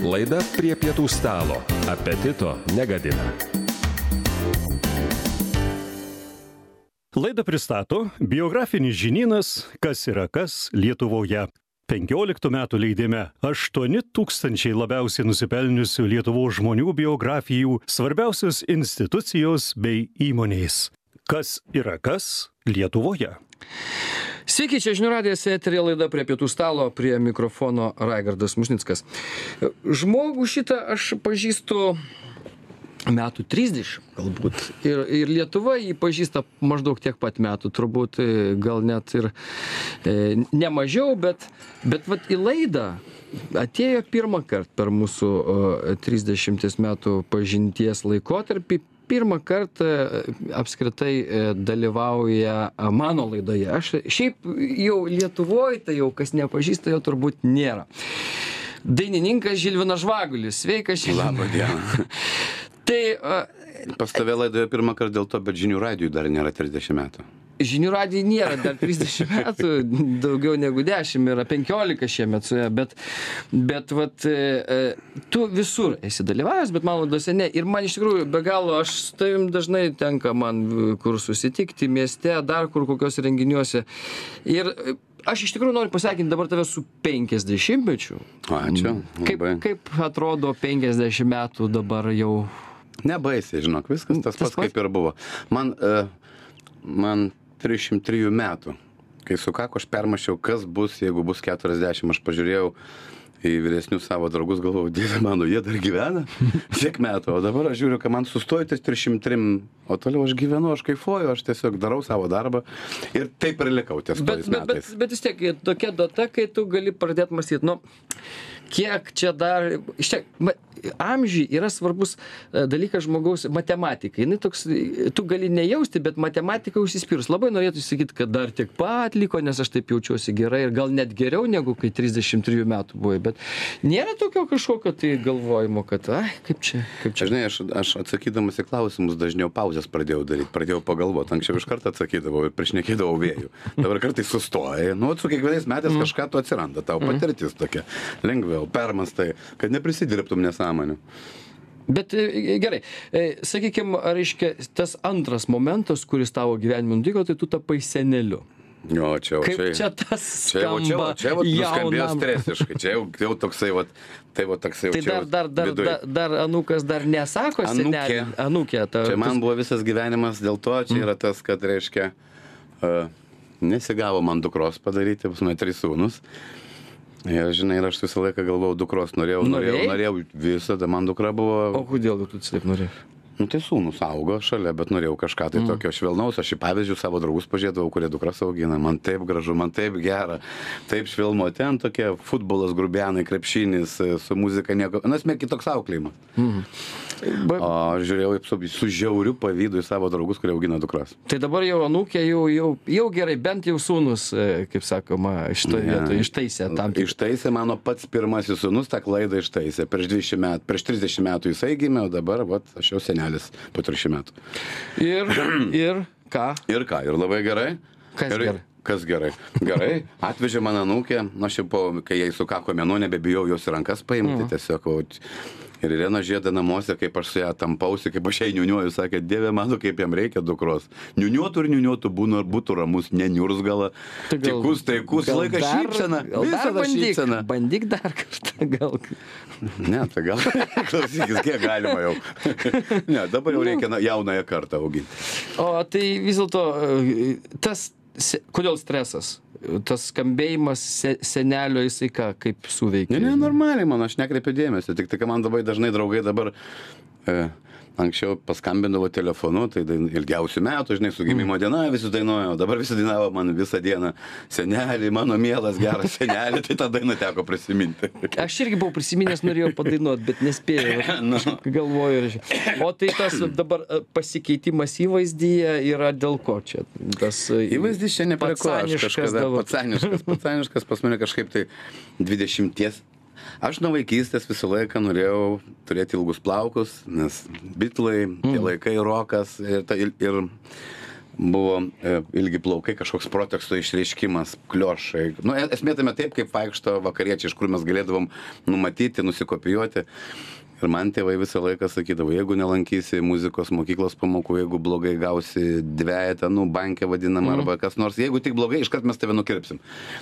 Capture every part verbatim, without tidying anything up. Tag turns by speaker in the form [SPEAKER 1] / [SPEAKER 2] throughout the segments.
[SPEAKER 1] Laida prie pietų stalo. Apetito negadina.
[SPEAKER 2] Laidą pristato biografinis žinynas Kas yra kas Lietuvoje. penkioliktų metų leidime aštuoni tūkstančiai labiausiai nusipelniusių Lietuvos žmonių biografijų, svarbiausios institucijos bei įmonės. Kas yra kas Lietuvoje?
[SPEAKER 3] Sveiki, čia Žinių radijas eteryje laida prie pietų stalo, prie mikrofono Raigardas Musnickas. Žmogų šitą aš pažįstu metų trisdešimt galbūt. Ir, ir Lietuva jį pažįsta maždaug tiek pat metų, turbūt gal net ir e, ne mažiau, bet, bet vat į laidą atėjo pirmą kartą per mūsų o, trisdešimties metų pažinties laikotarpį. Pirmą kartą apskritai dalyvauja mano laidoje. Aš šiaip jau Lietuvoje, tai jau kas nepažįsta, jo turbūt nėra. Dainininkas Žilvinas Žvagulis. Sveikas, Žilvinai.
[SPEAKER 4] Labą dieną.
[SPEAKER 3] Tai...
[SPEAKER 4] Pas tave laidoje pirmą kartą dėl to, bet Žinių radijui dar nėra trisdešimt metų.
[SPEAKER 3] Žinių radijui nėra dar trisdešimt metų, daugiau negu dešimt, yra penkiolika šiemet suėjo, bet, bet vat, e, tu visur esi dalyvavęs, bet man laidose ne. Ir man iš tikrųjų be galo, aš su tavim dažnai tenka man kur susitikti mieste, dar kur kokios renginiuose. Ir aš iš tikrųjų noriu pasveikinti dabar tave su penkiasdešimtmečiu.
[SPEAKER 4] Ačiū.
[SPEAKER 3] Kaip, kaip atrodo penkiasdešimt metų dabar jau?
[SPEAKER 4] Nebaisiai, žinok, viskas tas, tas pats kaip ir buvo. Man, uh, man trisdešimt trijų metų, kai sukako, aš permašiau, kas bus, jeigu bus keturiasdešimt. Aš pažiūrėjau į vyresnius savo draugus, galvojau, Dieve mano, jie dar gyvena tiek metų. O dabar aš žiūriu, kad man sustojo ties trisdešimt trim, o toliau aš gyvenu, aš kaifuoju, aš tiesiog darau savo darbą ir taip ir likau ties tojais
[SPEAKER 3] bet,
[SPEAKER 4] metais.
[SPEAKER 3] Bet, bet vis tiek tokia data, kai tu gali pradėti mąstyti, nu, kiek čia dar, iš tiek, amžiai yra svarbus dalykas žmogaus matematika. Jis toks, tu gali nejausti, bet matematika užsispyrus. Labai norėtų sakyti, kad dar tiek pat liko, nes aš taip jaučiuosi gerai ir gal net geriau negu kai trisdešimt trijų metų buvai. Bet nėra tokio kažkokio tai galvojimo, kad, ai, kaip čia, kaip čia.
[SPEAKER 4] Žinai, aš, aš atsakydamas į klausimus dažniau pauzės pradėjau daryti, pradėjau pagalvoti. Anksčiau iš karto atsakydavau ir priešnekėdavau vėjų. Dabar kartais sustoja. Nu, su kiekvienais metais mm. kažką tu atsiranda. Tau patirtis tokia. Lengviau, permastai, kad neprisidirbtum nesąmonių.
[SPEAKER 3] Bet gerai, sakykime, reiškia, tas antras momentas, kuris tavo gyvenime nutiko, tai tu tapai seneliu.
[SPEAKER 4] Jo, čia jau,
[SPEAKER 3] Kaip
[SPEAKER 4] čia,
[SPEAKER 3] čia tas skamba
[SPEAKER 4] čia, jau, čia jau nuskambėjo
[SPEAKER 3] jaunam.
[SPEAKER 4] stresiškai, čia jau, jau toksai, vat, tai va toksai,
[SPEAKER 3] Tai dar, dar, dar, dar, dar anūkas dar nesako senelį. Anūkė. Ta,
[SPEAKER 4] čia man buvo visas gyvenimas, dėl to čia yra tas, kad, reiškia, uh, nesigavo man dukros padaryti, pas mane trys sūnus. Ir, žinai, ir aš visą laiką galvojau, dukros norėjau, norėjau, norėjau, visada man dukra buvo.
[SPEAKER 3] O kodėl tu taip norėjai?
[SPEAKER 4] Nu, tai sūnus augo šalia, bet norėjau kažką tai mm. tokio švelnaus. Aš į pavyzdžių savo draugus pažiūrėdavau, kurie dukras augina. Man taip gražu, man taip gera, taip švelnu. Ten tokie futbolas, grubianai, krepšinis, su muzika nieko. Na, esmė kitoks auklėjimas. Mm. Ba... O žiūrėjau su, su žiauriu pavydu į savo draugus, kurie augina dukras.
[SPEAKER 3] Tai dabar jau anūkė, jau, jau, jau gerai, bent jau sūnus, kaip sakoma, šitoje yeah. vietoje ištaisė tam. Tik...
[SPEAKER 4] Ištaisė mano pats pirmasis sūnus, tą klaidą ištaisė. Prieš dvidešimt metų, prieš trisdešimt metų jisai gimė, o dabar, vat, aš jau senelė. Po trisdešimt metų.
[SPEAKER 3] Ir, ir ką?
[SPEAKER 4] Ir ką, ir labai gerai.
[SPEAKER 3] Kas
[SPEAKER 4] ir,
[SPEAKER 3] gerai?
[SPEAKER 4] Kas gerai? Gerai, atvežė mano anūkę, aš jau po, kai jai sukako mėnuo, nebebijau jos į rankas paimti, mm. tiesiog. O, ir Irena žieda namuose, kaip aš su ją tampausi, kaip aš jai niuniuoju, sakė, Dieve mano, kaip jam reikia dukros. Niuniuotų ir niuniuotų būna, būtų ramus, neniurzgala, tai tikus, taikus, laiką šypsena, visada šypsena.
[SPEAKER 3] Bandyk dar kartą, gal.
[SPEAKER 4] Ne, tai gal, klausykis, kiek galima jau. Ne, dabar jau reikia jaunąją kartą auginti.
[SPEAKER 3] O tai vis dėlto, tas, kodėl stresas? Tas skambėjimas se, senelio, jisai ką, kaip suveikia?
[SPEAKER 4] Ne, ne, normaliai, man, aš nekreipiu dėmesio, tik tai, kad man labai dažnai draugai dabar e, anksčiau paskambindavo telefonu, tai ilgiausių metų, žinai, su gimimo diena visi dainuoja, dabar visi dainavo man visą dieną, senelį, mano mielas, geras senelį, tai tą dainą teko prisiminti.
[SPEAKER 3] Aš irgi buvau prisiminęs, norėjau padainuoti, bet nespėjau,
[SPEAKER 4] no.
[SPEAKER 3] galvoju. O tai tas dabar pasikeitimas įvaizdyje yra dėl ko čia? Tas
[SPEAKER 4] įvaizdys čia ne prie ko, aš kažkada pacaniškas, pacaniškas, pas mane kažkaip tai dvidešimties. Aš nuo vaikystės visą laiką norėjau turėti ilgus plaukus, nes Bitlai, tie laikai, rokas ir, ir, ir buvo e, ilgi plaukai, kažkoks proteksto išreiškimas, kliošai. Nu, esmė tame taip, kaip vaikšto vakariečiai, iš kur mes galėdavom numatyti, nusikopijuoti. Ir man tėvai visą laiką sakydavo, jeigu nelankysi muzikos mokyklos pamokų, jeigu blogai gausi dvejetą, nu, bankę vadinamą, mm. arba kas nors, jeigu tik blogai, iškart mes tave nukirpsim.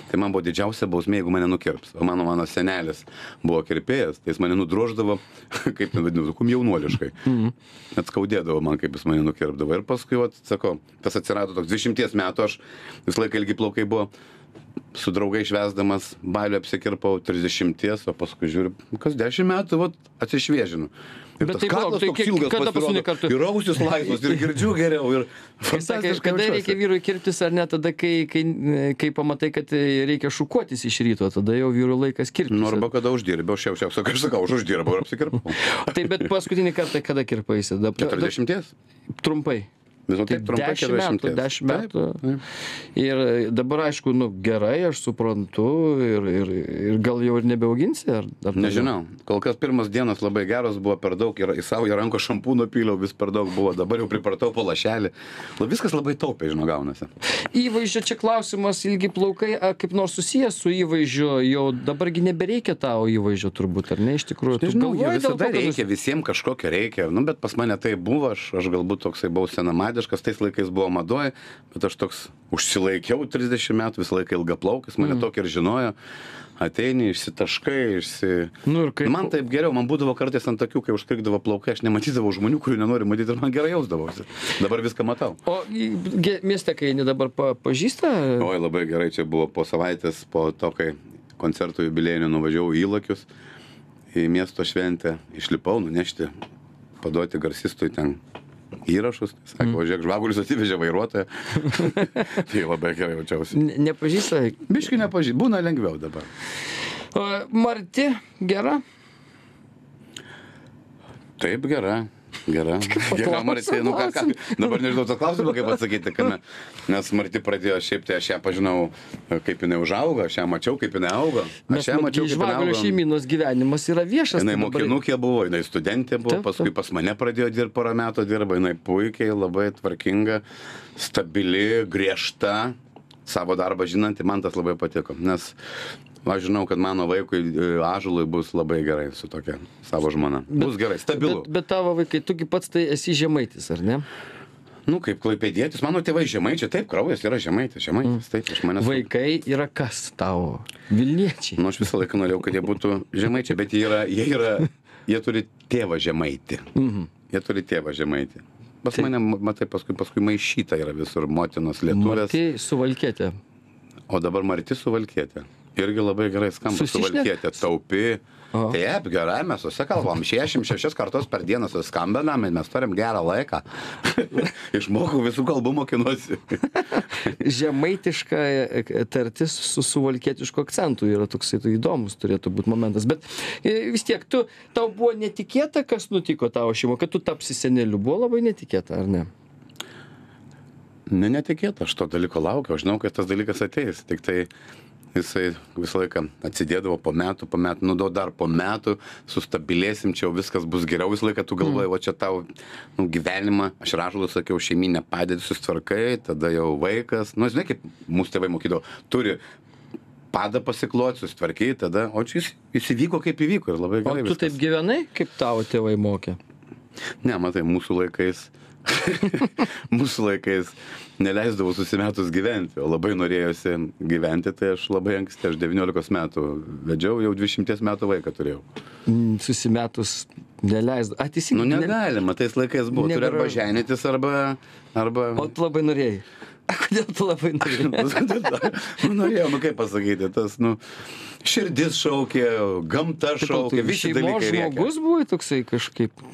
[SPEAKER 4] Tai man buvo didžiausia bausmė, jeigu mane nukirps. O mano, mano senelis buvo kirpėjas, tai jis mane nudroždavo, kaip ten vadinu, kum jaunuoliškai. Mm. Net skaudėdavo man, kaip jis mane nukirpdavo. Ir paskui, vat, sakau, tas atsirado toks dvidešimties metų, aš visą laiką ilgi plaukai buvo. Su draugai švesdamas balių apsikirpau trisdešimties, o paskui žiūriu, kas dešimt metų, vat, atsišviežinu. Ir
[SPEAKER 3] bet
[SPEAKER 4] tas
[SPEAKER 3] tai
[SPEAKER 4] kaklas
[SPEAKER 3] tai
[SPEAKER 4] toks ilgas pasirodo,
[SPEAKER 3] kartu...
[SPEAKER 4] ir ausis laisvas, ir girdžiu geriau. Ir
[SPEAKER 3] sakė, kada reikia vyrui kirptis ar ne, tada, kai, kai, kai pamatai, kad reikia šukuotis iš ryto, tada jau vyrų laikas kirptis.
[SPEAKER 4] Nu, arba kada uždirbau, šiausiau, aš sakau, aš uždirbau ir apsikirpau.
[SPEAKER 3] Tai bet paskutinį kartą kada kirpaisi?
[SPEAKER 4] keturiasdešimties?
[SPEAKER 3] Trumpai.
[SPEAKER 4] Visą taip trumpai
[SPEAKER 3] dešimt metų, dešimt metų. Ir dabar, aišku, nu, gerai, aš suprantu, ir, ir, ir gal jau ir nebeauginsi? Ar, ar
[SPEAKER 4] nežinau, kol kas pirmas dienas labai geros, buvo per daug, ir į savo į ranko šampūno pyliau, vis per daug buvo, dabar jau pripratau po lašelį. Viskas labai taupiai, žinau, gaunasi.
[SPEAKER 3] Įvaizdžio čia klausimas, ilgi plaukai, kaip nors susijęs su įvaizdžiu, jau dabargi nebereikia tavo įvaizdžio turbūt, ar ne, iš tikrųjų?
[SPEAKER 4] Nežinau, visada reikia, visiems kažkokio reikia, nu, bet pas mane tai buvo, aš, aš galbūt toksai buvau senamadiškas, tais laikais buvo madoj, bet aš toks užsilaikiau trisdešimt metų, visą laiką ilgaplaukis, mane mm. tokį ir žinojo, ateini, išsitaškai, išsi...
[SPEAKER 3] Nu, kaip...
[SPEAKER 4] Man taip geriau, man būdavo kartais ant tokių, kai užkrikdavo plaukai, aš nematydavau žmonių, kurių nenori matyti, ir man gerai jausdavosi. Dabar viską matau.
[SPEAKER 3] O mieste, kai eini dabar pa, pažįsta?
[SPEAKER 4] Oi, labai gerai, čia buvo po savaitės, po to, kai koncertų jubiliejinių nuvažiavau į Įlakius, į miesto šventę, išlipau nunešti, paduoti garsistui ten įrašus, sako, mm. žiūrėk, žvagulis atsivežė vairuotoją. Tai labai gerai jaučiausi.
[SPEAKER 3] Ne, nepažįsta?
[SPEAKER 4] Biškai nepažįsta, būna lengviau dabar.
[SPEAKER 3] O, Marti, gera?
[SPEAKER 4] Taip, gera. Gera. Gera, Marti, nu ką, ką. Dabar nežinau to klausimą, kaip atsakyti, kame. Nes Marti pradėjo šiaip, tai aš ją pažinau, kaip jinai užaugo, aš ją mačiau, kaip jinai augo. Aš ją mačiau, kaip jinai augo.
[SPEAKER 3] Žvagulių šeimynos gyvenimas yra viešas.
[SPEAKER 4] Jinai mokinukė buvo, jinai studentė buvo, taip, paskui pas mane pradėjo dirbti, porą metų dirba, jinai puikiai, labai tvarkinga, stabili, griežta, savo darbą žinanti, man tas labai patiko. Nes aš žinau, kad mano vaikui Ąžuolui bus labai gerai su tokia savo žmona. Bus bet, gerai, stabilu.
[SPEAKER 3] Bet, bet tavo vaikai, tugi pats tai esi žemaitis, ar ne?
[SPEAKER 4] Nu, kaip klaipėdietis, mano tėvai žemaičiai, taip, kraujas yra žemaitis, žemaitis, taip, iš manęs.
[SPEAKER 3] Vaikai yra kas tavo? Vilniečiai.
[SPEAKER 4] Nu, aš visą laiką norėjau, kad jie būtų žemaičiai, bet jie yra, jie yra, jie turi tėvą žemaitį. Mhm. Jie turi tėvą žemaitį. Pas tai... mane, matai, paskui, paskui maišyta yra visur motinos lietuvės.
[SPEAKER 3] Marti Suvalkietė.
[SPEAKER 4] O dabar Marti Suvalkietė. Irgi labai gerai skamba Suvalkietė, taupi. Aha. Taip, gerai, mes susikalbam, šešiasdešimt šešias kartus per dieną suskambinam, mes turim gerą laiką. Išmokau visų kalbų, mokinuosi.
[SPEAKER 3] Žemaitiška tartis su suvalkietišku akcentu yra toksai tai įdomus turėtų būti momentas. Bet vis tiek, tu, tau buvo netikėta, kas nutiko tavo šeimo, kad tu tapsi seneliu, buvo labai netikėta, ar ne?
[SPEAKER 4] Ne, netikėta, aš to dalyko laukiau, aš žinau, kad tas dalykas ateis, tik tai jisai visą laiką atsidėdavo po metų, po metų, nu, dar po metų, sustabilėsim, čia jau viskas bus geriau, visą laiką tu galvoji, mm. va čia tau, nu, gyvenimą, aš Ąžuolui sakiau, šeiminę padėtį susitvarkai, tada jau vaikas, nu, žinai, kaip mūsų tėvai mokydavo, turi padą pasikloti, susitvarkai, tada, o čia jis, jis įvyko, kaip įvyko ir labai gerai
[SPEAKER 3] viskas. O tu viskas. Taip gyvenai, kaip tavo tėvai mokė?
[SPEAKER 4] Ne, matai, mūsų laikais mūsų laikais neleisdavau susimetus gyventi, o labai norėjosi gyventi, tai aš labai anksti, aš devyniolikos metų vedžiau, jau dvidešimties metų vaiką turėjau.
[SPEAKER 3] Mm, susimetus neleisdavau. Ateisingai.
[SPEAKER 4] Nu negalima, tais laikais buvo, turi arba ženytis, arba, arba...
[SPEAKER 3] O tu labai norėjai. Kodėl tu labai norėjai?
[SPEAKER 4] Nu norėjau, nu kaip pasakyti, tas, nu, širdis šaukė, gamta šaukė, visi dalykai reikia.
[SPEAKER 3] Šeimos žmogus buvo toksai kažkaip...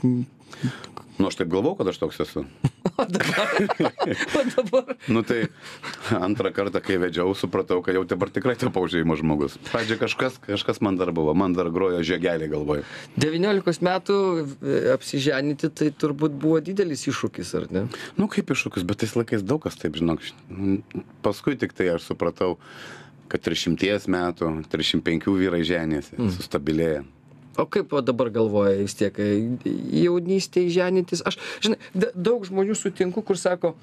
[SPEAKER 4] Nu, aš taip galvau, kad aš toks esu.
[SPEAKER 3] O dabar? O dabar?
[SPEAKER 4] Nu, tai antrą kartą, kai vedžiau, supratau, kad jau dabar tikrai tapau šeimos žmogus. Pradžiai kažkas, kažkas man dar buvo, man dar grojo žiegelį galvoje.
[SPEAKER 3] devyniolikos metų apsiženyti, tai turbūt buvo didelis iššūkis, ar ne?
[SPEAKER 4] Nu, kaip iššūkis, bet tais laikais daug kas taip, žinok. Paskui tik tai aš supratau, kad trisdešimties metų, trisdešimt penkių vyrai ženėsi, mm. sustabilėja.
[SPEAKER 3] O kaip va dabar galvoja vis tiek, jaunystėje ženytis? Aš, žinai, daug žmonių sutinku, kur sako,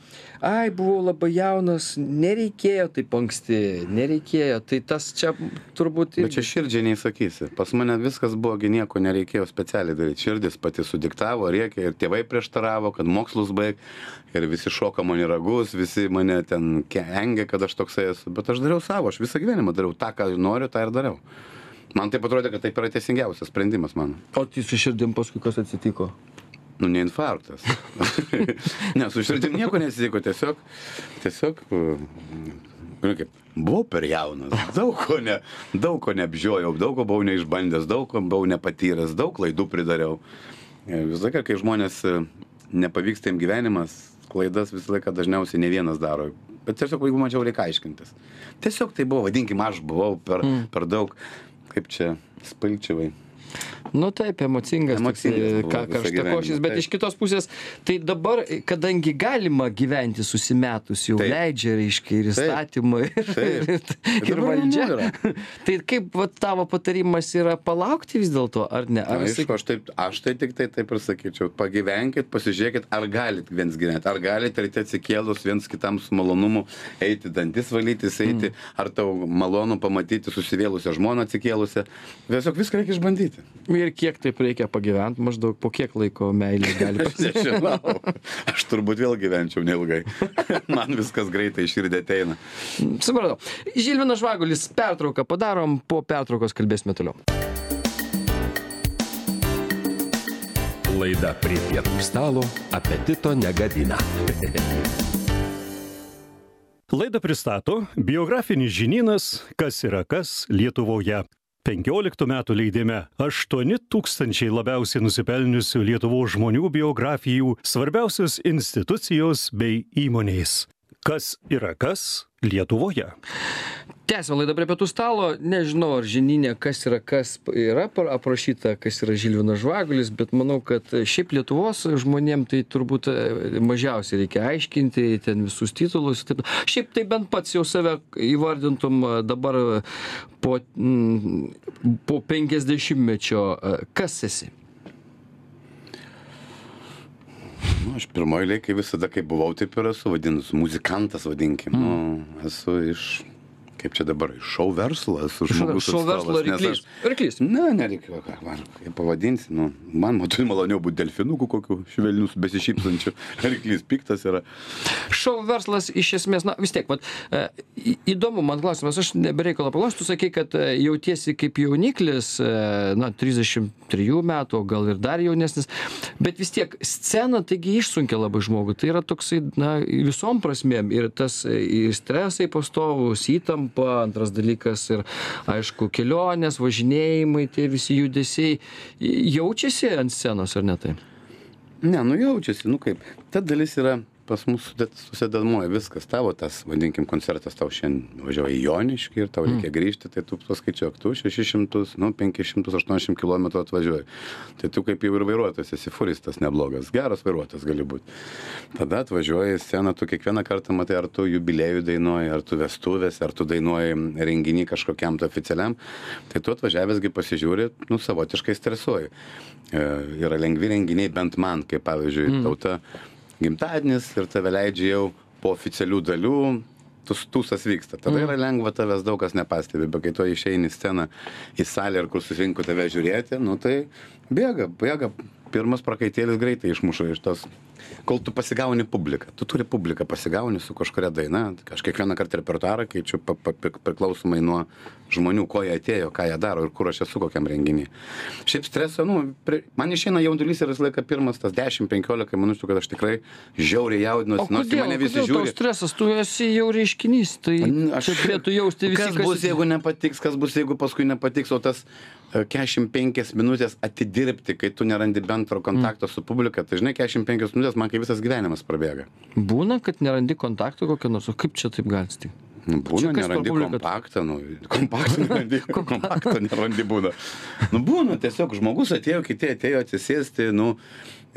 [SPEAKER 3] ai, buvau labai jaunas, nereikėjo taip anksti, nereikėjo. Tai tas čia turbūt...
[SPEAKER 4] Bet čia širdžiai neįsakysi. Pas mane viskas buvo, nieko nereikėjo specialiai daryti. Širdis pati sudiktavo, rėkė ir tėvai prieštaravo, kad mokslus baig. Ir visi šoka man į ragus, visi mane ten engė, kad aš toksai esu. Bet aš dariau savo, aš visą gyvenimą dariau. Ta, ką noriu, tą ir dariau. Man taip atrodė, kad taip yra teisingiausias sprendimas mano.
[SPEAKER 3] O tai su širdim paskui kas atsitiko?
[SPEAKER 4] Nu, ne infarktas. Ne, su širdim nieko nesitiko, tiesiog, tiesiog, nu kaip, buvau per jaunas, daug ko, ne, daug ko neapžiojau, daug ko buvau neišbandęs, daug ko buvau nepatyręs, daug klaidų pridariau. Visą laiką, kai žmonės nepavyksta jiems gyvenimas, klaidas visą laiką dažniausiai ne vienas daro. Bet tiesiog, jeigu mačiau, reikia aiškintis. Tiesiog tai buvo, vadinkim, aš buvau per, mm. per daug, kaip čia, spalčiavai.
[SPEAKER 3] Nu taip, emocingas,
[SPEAKER 4] Emocingas
[SPEAKER 3] ką karštakošis, bet taip. Iš kitos pusės, tai dabar, kadangi galima gyventi susimetus, jau taip. Leidžia, reiškia, ir įstatymai, ir, ir, ir valdžia. Tai kaip va, tavo patarimas yra palaukti vis dėlto, ar ne? Ar
[SPEAKER 4] Na, aišku, aš, taip, aš tai tik tai taip ir sakyčiau, pagyvenkit, pasižiūrėkit, ar galit viens gyventi, ar galit ryte atsikėlus viens kitam su malonumu eiti dantis valytis, eiti, mm. ar tau malonu pamatyti susivėlusią žmoną atsikėlusią. Tiesiog viską reikia išbandyti.
[SPEAKER 3] Ir kiek taip reikia pagyventi, maždaug po kiek laiko meilė gali
[SPEAKER 4] pasiekti? Aš nežinau. Aš turbūt vėl gyvenčiau neilgai. Man viskas greitai širdį ateina.
[SPEAKER 3] Supratau. Žilvinas Žvagulis, pertrauką padarom, po pertraukos kalbėsime toliau.
[SPEAKER 1] Laida prie pietų stalo apetito negadina.
[SPEAKER 2] Laidą pristato biografinis žinynas Kas yra kas Lietuvoje. penkioliktų metų leidime aštuoni tūkstančiai labiausiai nusipelniusių Lietuvos žmonių biografijų, svarbiausios institucijos bei įmonės. Kas yra kas Lietuvoje?
[SPEAKER 3] Tęsime laidą prie pietų stalo. Nežinau, ar žinyne, kas yra kas yra aprašyta, kas yra Žilvinas Žvagulis, bet manau, kad šiaip Lietuvos žmonėm tai turbūt mažiausiai reikia aiškinti, ten visus titulus. Taip. Šiaip tai bent pats jau save įvardintum dabar po, po penkiasdešimtmečio. Kas esi?
[SPEAKER 4] Nu, aš pirmoji eilėje, kai visada, kai buvau, taip ir esu vadinus, muzikantas vadinkim. Mm. Nu, esu iš, kaip čia dabar, iš šou verslo, esu žmogus
[SPEAKER 3] šou verslo ryklys. Ryklys?
[SPEAKER 4] Ne, nereikia, ką, kaip pavadinsi, nu, man matui maloniau būti delfinukų kokių švelnius besišypsančių, ryklys piktas yra.
[SPEAKER 3] Šou verslas iš esmės, na vis tiek, vat, e, įdomu man klausimas, aš nebereikalo paklausiu, tu sakai, kad jautiesi kaip jauniklis, e, na, trisdešimt trijų metų, gal ir dar jaunesnis, bet vis tiek scena, taigi išsunkia labai žmogų, tai yra toksai, na, visom prasmėm ir tas ir stresai pastovus, įtampa, antras dalykas ir, aišku, kelionės, važinėjimai, tie visi judesiai, jaučiasi ant scenos, ar ne tai?
[SPEAKER 4] Ne, nu jaučiasi, nu kaip, ta dalis yra pas mus susidedamoji viskas, tavo tas, vadinkim, koncertas tau šiandien važiuoja į Joniškį ir tau reikia grįžti, tai tu paskaičiuok, tu šešis šimtus, nu, penkis šimtus aštuoniasdešimt kilometrų atvažiuoji. Tai tu kaip jau ir vairuotojas, esi furistas neblogas, geras vairuotojas gali būti. Tada atvažiuoji į sceną, tu kiekvieną kartą matai, ar tu jubiliejų dainuoji, ar tu vestuvės, ar tu dainuoji renginį kažkokiam tu oficialiam. Tai tu atvažiavęsgi pasižiūri, nu, savotiškai stresuoji. E, yra lengvi renginiai, bent man, kaip pavyzdžiui, mm. tauta gimtadienis ir tave leidžia jau po oficialių dalių, tūsas vyksta. Tada yra lengva, tavęs daug kas nepastebi, bet kai tu išeini į sceną, į salę, ir kur susirinko tave žiūrėti, nu tai bėga, bėga. Pirmas prakaitėlis greitai išmuša iš tos, kol tu pasigauni publiką. Tu turi publiką pasigauni su kažkuria daina. Aš kiekvieną kartą repertuarą keičiu pa, pa, priklausomai nuo žmonių, ko jie atėjo, ką jie daro ir kur aš esu kokiam renginį. Šiaip streso, nu, prie, man išeina jaudulys ir visą laiką pirmas tas dešimt penkiolika minučių, kad aš tikrai žiauriai jaudinuosi.
[SPEAKER 3] O kodėl,
[SPEAKER 4] mane visi
[SPEAKER 3] kodėl
[SPEAKER 4] žiūri.
[SPEAKER 3] Tau stresas? Tu esi jau reiškinys, tai
[SPEAKER 4] aš
[SPEAKER 3] turėtų jausti visi.
[SPEAKER 4] Kas bus, jeigu nepatiks, kas bus, jeigu paskui nepatiks, o tas keturiasdešimt penkias minutės atidirbti, kai tu nerandi bendro kontakto mm. su publika, tai žinai, keturiasdešimt penkias minutės man kai visas gyvenimas prabėga.
[SPEAKER 3] Būna, kad nerandi kontakto kokio nors, o kaip čia taip gali atsitikti?
[SPEAKER 4] Nu, būna, nerandi kompaktą, nu, kompaktą nerandi, kompaktą nerandi būna. Nu, būna, tiesiog žmogus atėjo, kiti atėjo atsisėsti, nu,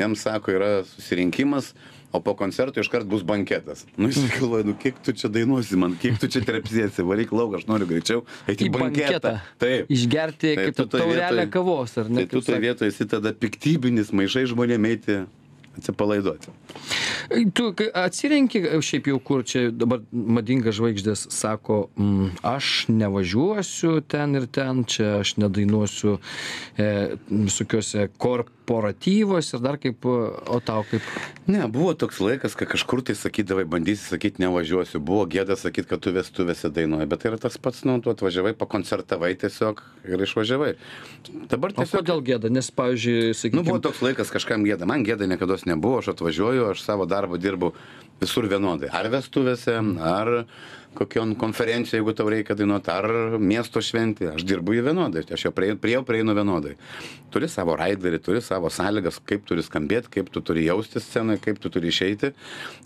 [SPEAKER 4] jam sako, yra susirinkimas, o po koncerto iškart bus banketas. Nu, jis galvoja, nu, kiek tu čia dainuosi man, kiek tu čia trepsėsi, varyk lauk, aš noriu greičiau eiti į banketą.
[SPEAKER 3] Taip. Išgerti
[SPEAKER 4] tai
[SPEAKER 3] kaip taurelę kavos, ar ne?
[SPEAKER 4] Tai tu toje vietoje esi tada piktybinis, maišai žmonėm eiti atsipalaiduoti.
[SPEAKER 3] Tu atsirenki šiaip jau, kur čia dabar madingas žvaigždės sako, mm, aš nevažiuosiu ten ir ten, čia aš nedainuosiu e, visokiuose korporatyvos ir dar kaip, o tau kaip?
[SPEAKER 4] Ne, buvo toks laikas, kad kažkur tai sakydavai, bandysi sakyti nevažiuosiu, buvo gėda sakyti, kad tu vestuvėse dainuoji, bet tai yra tas pats, nu, tu atvažiavai, pakoncertavai tiesiog ir išvažiavai. Dabar tiesiog...
[SPEAKER 3] O kodėl gėda, nes, pavyzdžiui, sakykime...
[SPEAKER 4] Nu, buvo toks laikas kažkam gėda, man gėda niekada nebuvo, aš atvažiuoju, aš savo darbą dirbu visur vienodai. Ar vestuvėse, ar kokion konferenciją, jeigu tau reikia dainuoti, ar miesto šventė. Aš dirbu jį vienodai, aš jau prie, prie jau prieinu vienodai. Turi savo raiderį, turi savo sąlygas, kaip turi skambėti, kaip tu turi jausti scenoje, kaip tu turi išeiti.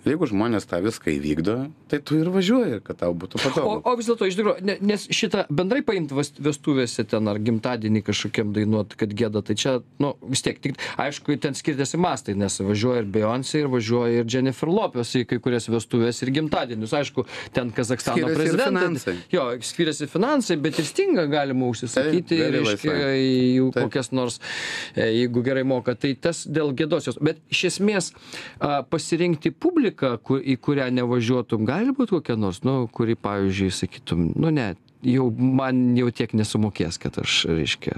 [SPEAKER 4] Jeigu žmonės tą viską įvykdo, tai tu ir važiuoji, kad tau būtų patogu.
[SPEAKER 3] O, o vis dėlto, iš tikrųjų, nes šitą bendrai paimti vestuvėse ten ar gimtadienį kažkokiam dainuoti, kad gėda, tai čia, nu, vis tiek, tik, aišku, ten skirtėsi mastai, nes važiuoja ir Beyoncé, ir važiuoja ir Jennifer Lopez į kai kurias vestuvės ir gimtadienius. Aišku, ten Kazakstano prezidentai. Jo, skiriasi finansai, bet ir Stingą galima užsisakyti,
[SPEAKER 4] Taip,
[SPEAKER 3] reiškia, jų kokias nors, jeigu gerai moka, tai tas dėl gėdosios. Bet iš esmės a, pasirinkti publiką, kur, į kurią nevažiuotum, gali būti kokia nors, nu, kuri, pavyzdžiui, sakytum, nu ne, jau man jau tiek nesumokės, kad aš, reiškia,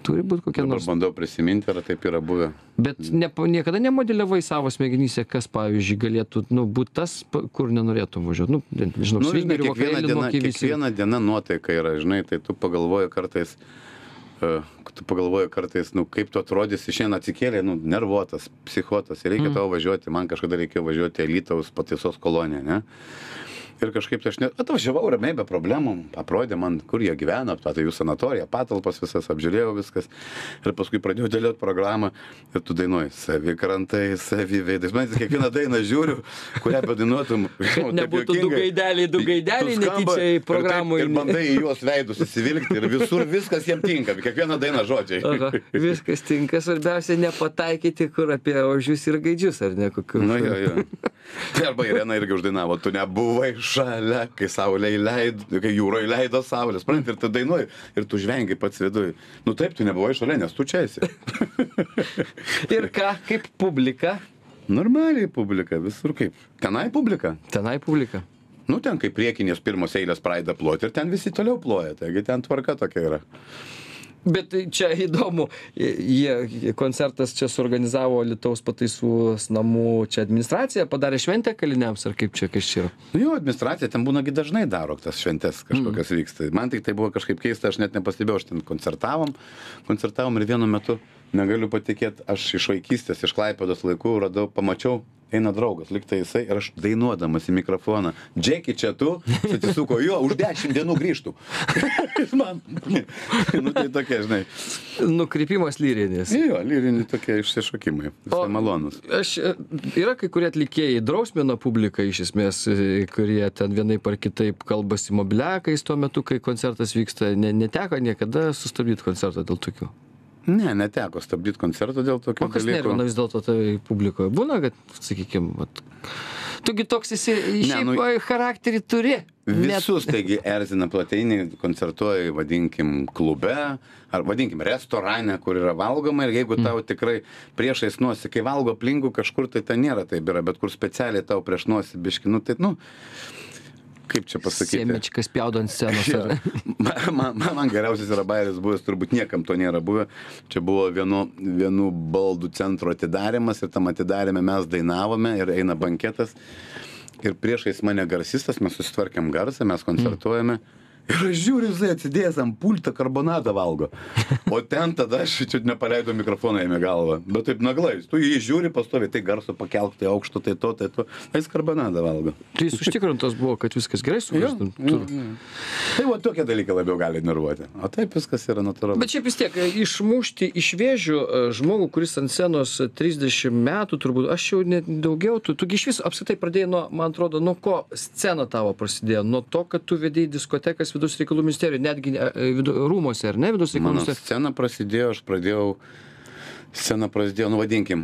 [SPEAKER 3] turi būti kokia nors.
[SPEAKER 4] Dabar bandau prisiminti, ar taip yra buvę.
[SPEAKER 3] Bet ne, niekada nemodeliavai savo smegenyse, kas, pavyzdžiui, galėtų, nu, būti tas, kur nenorėtum važiuoti. Nu, nežinau,
[SPEAKER 4] nu, žinai,
[SPEAKER 3] svingerių
[SPEAKER 4] kiekviena
[SPEAKER 3] vakarėlį,
[SPEAKER 4] diena,
[SPEAKER 3] moki visi.
[SPEAKER 4] kiekviena diena nuotaika yra, žinai, tai tu pagalvoji kartais, uh, tu pagalvoji kartais, nu, kaip tu atrodysi, šiandien atsikėlė, nu, nervuotas, psichuotas, ir reikia mm. tau važiuoti, man kažkada reikėjo važiuoti Alytaus pataisos koloniją, ne? Ir kažkaip tai aš net atvažiavau ramiai be problemų, aprodė man, kur jie gyvena, tai jų sanatorija, patalpas visas, apžiūrėjau viskas. Ir paskui pradėjau dėlioti programą ir tu dainuoji savi krantai, savi veidai. Man kiekvieną dainą žiūriu, kurią bedainuotum.
[SPEAKER 3] Nebūtų du gaideliai, du gaideliai, netyčia į programų.
[SPEAKER 4] Ir, ir bandai į juos veidus įsivilkti ir visur viskas jiem tinka, kiekvieną dainą žodžiai.
[SPEAKER 3] Aha, viskas tinka, svarbiausia nepataikyti, kur apie ožius ir gaidžius, ar ne kokiu.
[SPEAKER 4] Nu, jo, jo. Tai arba Irena irgi uždainavo, tu nebuvai šalia, kai saulė įleido, kai jūra įleido saulės, supranti, ir tu dainuoji, ir tu žvengi pats viduj. Nu taip, tu nebuvai šalia, nes tu čia esi.
[SPEAKER 3] Ir ką, kaip publika?
[SPEAKER 4] Normaliai publika, visur kaip. Tenai publika.
[SPEAKER 3] Tenai publika.
[SPEAKER 4] Nu ten, kai priekinės pirmos eilės pradeda ploti, ir ten visi toliau ploja, taigi ten tvarka tokia yra.
[SPEAKER 3] Bet čia įdomu, jie koncertas čia suorganizavo Alytaus pataisų namų, čia administracija padarė šventę kaliniams, ar kaip čia, kas čia yra?
[SPEAKER 4] Nu jo, administracija ten būnagi dažnai daro tas šventes kažkokias mm. vyksta. Man tik tai buvo kažkaip keista, aš net nepastebėjau, aš ten koncertavom, koncertavom ir vienu metu, negaliu patikėti, aš iš vaikystės, iš Klaipėdos laikų radau, pamačiau, eina draugas, liktai jisai, ir aš dainuodamas į mikrofoną, Džeki, čia tu, atsisuko, jo, už dešimt dienų grįžtų. Man, nu tai tokie, žinai.
[SPEAKER 3] Nukrypimas lyrinis.
[SPEAKER 4] Jo, lyrini tokie išsišokimai, visai malonus.
[SPEAKER 3] Aš, yra kai kurie atlikėjai drausmina publiką, iš esmės, kurie ten vienaip ar kitaip kalbasi mobiliakais tuo metu, kai koncertas vyksta, ne, neteko niekada sustabdyti koncertą dėl tokių.
[SPEAKER 4] Ne, neteko stabdyti koncertą dėl tokių dalykų.
[SPEAKER 3] O kas nervina vis dėlto tai publikoje? Būna, kad, sakykime, vat, tugi toks esi, šiaip nu, charakterį turi.
[SPEAKER 4] Visus, net... taigi, erzina plateinį, koncertuoja, vadinkim, klube, ar vadinkim, restorane, kur yra valgoma, ir jeigu tau tikrai priešais nosi, kai valgo aplinkų kažkur, tai ten nėra taip yra, bet kur specialiai tau prieš nosi biški, nu tai, nu... Kaip čia pasakyti?
[SPEAKER 3] Semičkas pjaudo ant scenos.
[SPEAKER 4] Ja. Man, man, man geriausias yra bairis buvęs, turbūt niekam to nėra buvę. Čia buvo vienu, vienu baldų centro atidarimas, ir tam atidarime mes dainavome, ir eina banketas. Ir priešais mane garsistas, mes susitvarkėm garsą, mes koncertuojame. Ir aš žiūriu, jisai atsidėjęs ant pultą karbonadą valgo. O ten tada aš čia nepaleido mikrofoną jame galvą. Bet taip naglais. Tu jį žiūri pastovi, tai garso pakelk, tai aukšto, tai to, tai to. Jis karbonadą valgo.
[SPEAKER 3] Tai jis užtikrintas buvo, kad viskas gerai sugrįžtų.
[SPEAKER 4] Tai va tokie dalykai labiau gali nervuoti. O taip viskas yra natūralu.
[SPEAKER 3] Bet šiaip vis tiek, išmušti iš vėžių žmogų, kuris ant scenos trisdešimt metų, turbūt, aš jau net daugiau, tu, tu iš vis apskritai pradėjai nuo, man atrodo, nuo ko scena tavo prasidėjo? Nuo to, kad tu vedėjai diskotekas Vidaus reikalų ministerijoje, netgi vidu, rūmose, ar ne, Vidaus reikalų
[SPEAKER 4] Mano
[SPEAKER 3] ministerijoje?
[SPEAKER 4] scena prasidėjo, aš pradėjau, scena prasidėjo, nu vadinkim,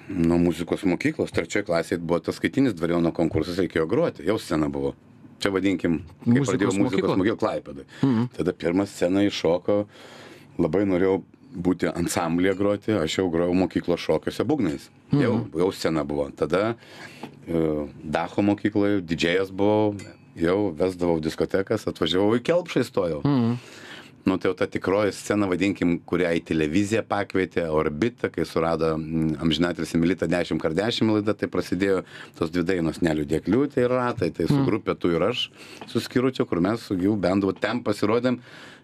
[SPEAKER 4] nuo muzikos mokyklos, trečioje klasėje buvo tas skaitinis dvariono konkursas, reikėjo groti, jau scena buvo. Čia vadinkim, kai
[SPEAKER 3] Muzikos
[SPEAKER 4] pradėjau muzikos mokyklą Klaipėdoj. Mhm. Tada pirmą sceną iššoko, labai norėjau būti ansamblyje groti, aš jau grojau mokyklos šokiuose būgnais. Mhm. Jau, jau scena buvo. Tada uh, Dacho mokykloje didžėjas buvau, jau vesdavau diskotekas, atvažiavau į Kelpšą įstojau. Mhm. Nu, tai jau ta tikroji scena, vadinkim, kurią į televiziją pakvietė, Orbitą, kai surado amžinatilsį Milita dešimt kart dešimt laida, tai prasidėjo tos dvi dainos Neliūdėk liūtė ir ratai, tai su grupė tu ir aš su Skiručiu, kur mes su gyvu bendu ten pasirodėm.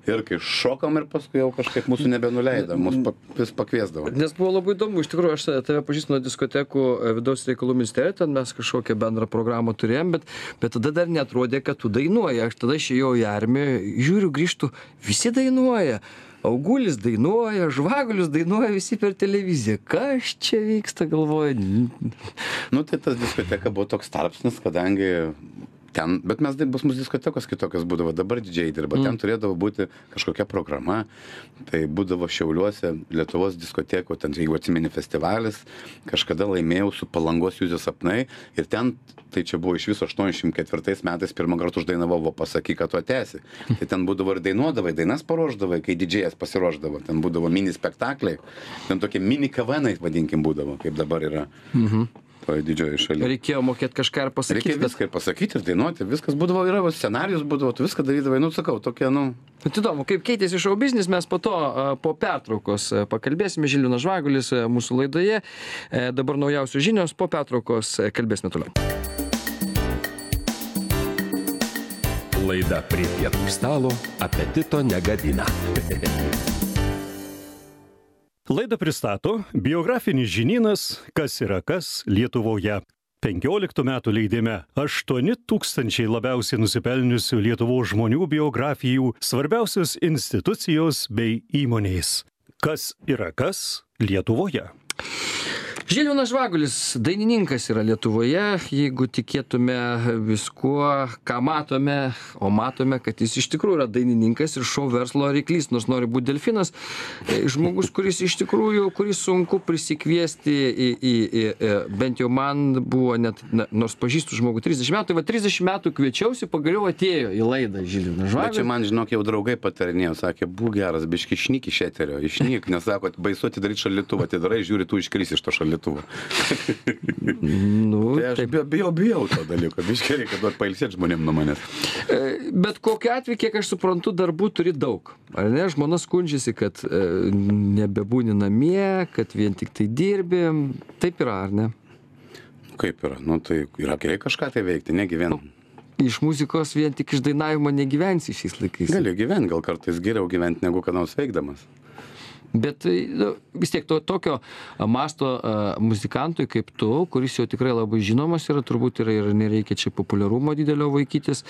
[SPEAKER 4] Ir kai šokom ir paskui jau kažkaip mūsų nebenuleido, mūsų vis pakviesdavo.
[SPEAKER 3] Nes buvo labai įdomu, iš tikrųjų, aš tave pažįstu nuo diskotekų Vidaus reikalų ministerijoje, ten mes kažkokią bendrą programą turėjom, bet, bet tada dar neatrodė, kad tu dainuoji. Aš tada išėjau į armiją, žiūriu, grįžtu, visi dainuoja. Augulis dainuoja, Žvagulius dainuoja, visi per televiziją. Kas čia vyksta, galvoju?
[SPEAKER 4] Nu, tai tas diskoteka buvo toks tarpsnis, kadangi ten, bet mes bus mūsų diskotekos kitokios būdavo, dabar didžiai dirba, ten turėdavo būti kažkokia programa, tai būdavo Šiauliuose, Lietuvos diskotekų, ten, jeigu atsimeni festivalis, kažkada laimėjau su Palangos Juzės sapnai ir ten, tai čia buvo iš viso aštuoniasdešimt ketvirtais metais pirmą kartą uždainavau, va pasakyk, kad tu atesi. Tai ten būdavo ir dainuodavai, dainas paruošdavai, kai didžėjas pasiruošdavo, ten būdavo mini spektakliai, ten tokie mini kavanai, vadinkim, būdavo, kaip dabar yra. Mhm. Didžioji šalia.
[SPEAKER 3] Reikėjo mokėti kažką ir pasakyti.
[SPEAKER 4] Reikėjo viską ir pasakyti, ir dainuoti, viskas būdavo, yra scenarijus būdavo, tu viską darydavai, nu sakau, tokie, nu.
[SPEAKER 3] Bet įdomu, kaip keitėsi šou biznis, mes po to, po pertraukos pakalbėsime, Žilvinas Žvagulis mūsų laidoje, dabar naujausios žinios, po pertraukos kalbėsime toliau.
[SPEAKER 1] Laida Prie pietų stalo apetito negadina.
[SPEAKER 2] Laidą pristato biografinis žinynas Kas yra kas Lietuvoje. penkioliktų metų leidime aštuoni tūkstančiai labiausiai nusipelniusių Lietuvos žmonių biografijų, svarbiausios institucijos bei įmonės. Kas yra kas Lietuvoje.
[SPEAKER 3] Žilvinas Žvagulis, dainininkas yra Lietuvoje, jeigu tikėtume viskuo, ką matome, o matome, kad jis iš tikrųjų yra dainininkas ir šou verslo ryklys, nors nori būti delfinas, žmogus, kuris iš tikrųjų, kuris sunku prisikviesti į, į, į, į bent jau man buvo net, nors pažįstu žmogų trisdešimt metų, tai va trisdešimt metų kviečiausi, pagaliau atėjo į laidą Žilvinas Žvagulis.
[SPEAKER 4] Bet čia man, žinok, jau draugai patarinėjo, sakė, būk geras, biški išnyk iš eterio, išnyk, nes sako, baisu atidaryti šaldytuvą, atidarai, žiūri, tu iškrisi iš to šaldytuvo.
[SPEAKER 3] Nu,
[SPEAKER 4] tai aš bijau, bijau to dalyko, biškai reikia duoti pailsėti žmonėm nuo manęs.
[SPEAKER 3] Bet kokiu atveju, kiek aš suprantu, darbų turi daug. Ar ne, žmona skundžiasi, kad e, nebebūni namie, kad vien tik tai dirbi. Taip yra, ar ne?
[SPEAKER 4] Kaip yra? Nu, tai yra gerai kažką tai veikti, negyvenu.
[SPEAKER 3] Iš muzikos vien tik iš dainavimo negyvensi šiais laikais.
[SPEAKER 4] Galiu gyventi, gal kartais geriau gyventi negu ką nors veikdamas.
[SPEAKER 3] Bet nu, vis tiek to, tokio masto uh, muzikantui kaip tu, kuris jau tikrai labai žinomas yra, turbūt yra ir nereikia čia populiarumo didelio vaikytis,